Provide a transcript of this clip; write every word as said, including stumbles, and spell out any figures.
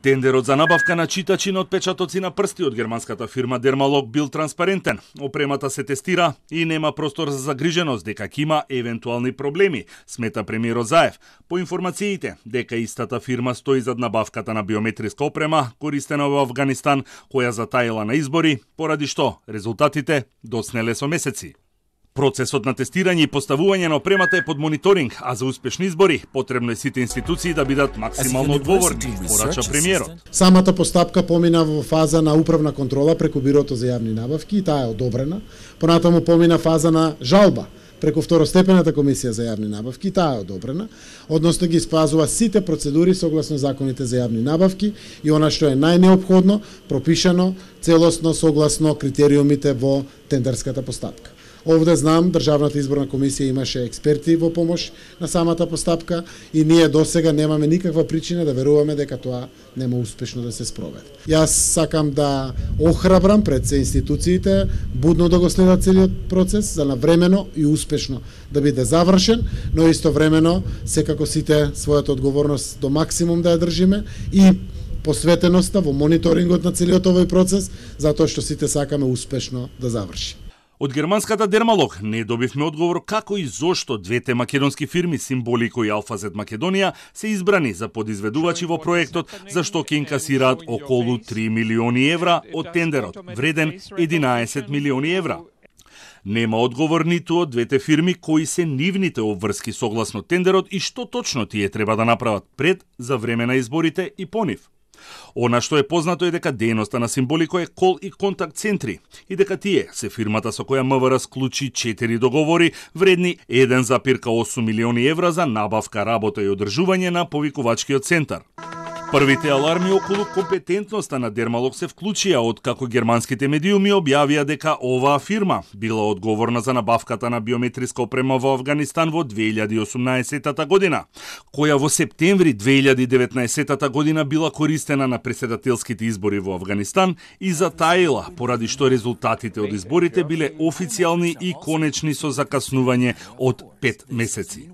Тендерот за набавка на читачи на отпечатоци на прсти од германската фирма Dermalog бил транспарентен. Опремата се тестира и нема простор за загриженост дека ќе има евентуални проблеми, смета премиерот Заев. По информациите дека истата фирма стои зад набавката на биометриска опрема користена во Авганистан, која затаила на избори, поради што резултатите доснеле со месеци. Процесот на тестирање и поставување на опремата е под мониторинг, а за успешни избори потребно е сите институции да бидат максимално одговорни, порача премиерот. Самата постапка помина во фаза на управна контрола преку Бирото за јавни набавки и таа е одобрена. Понатаму помина фаза на жалба преку второстепената комисија за јавни набавки, таа е одобрена, односно ги спазува сите процедури согласно законите за јавни набавки и она што е најнеопходно, пропишано целосно согласно критериумите во тендерската постапка. Овде знам, Државната изборна комисија имаше експерти во помош на самата постапка и ние досега немаме никаква причина да веруваме дека тоа нема успешно да се спроведе. Јас сакам да охрабрам пред се институциите будно да го следат целиот процес, за навремено и успешно да биде завршен, но истовремено секако сите својата одговорност до максимум да ја држиме и посветеноста во мониторингот на целиот овој процес, затоа што сите сакаме успешно да заврши. Од германската Dermalog не добивме одговор како и зошто двете македонски фирми Симболико и Алфазет Македонија се избрани за подизведувачи во проектот, за што ќе инкасираат околу три милиони евра од тендерот, вреден единаесет милиони евра. Нема одговор ниту од двете фирми кои се нивните обврски согласно тендерот и што точно тие треба да направат пред, за време на изборите и по нив. Она што е познато е дека дејноста на Симболико е кол и контакт центри и дека тие се фирмата со која МВР склучи четири договори вредни еден зарез осум милиони евра за набавка, работа и одржување на повикувачкиот центар. Првите аларми околу компетентноста на Dermalog се вклучија од како германските медиуми објавија дека оваа фирма била одговорна за набавката на биометриска опрема во Авганистан во две илјади и осумнаесета година, која во септември две илјади и деветнаесета година била користена на претседателските избори во Авганистан и затаила, поради што резултатите од изборите биле официјални и конечни со закаснување од пет месеци.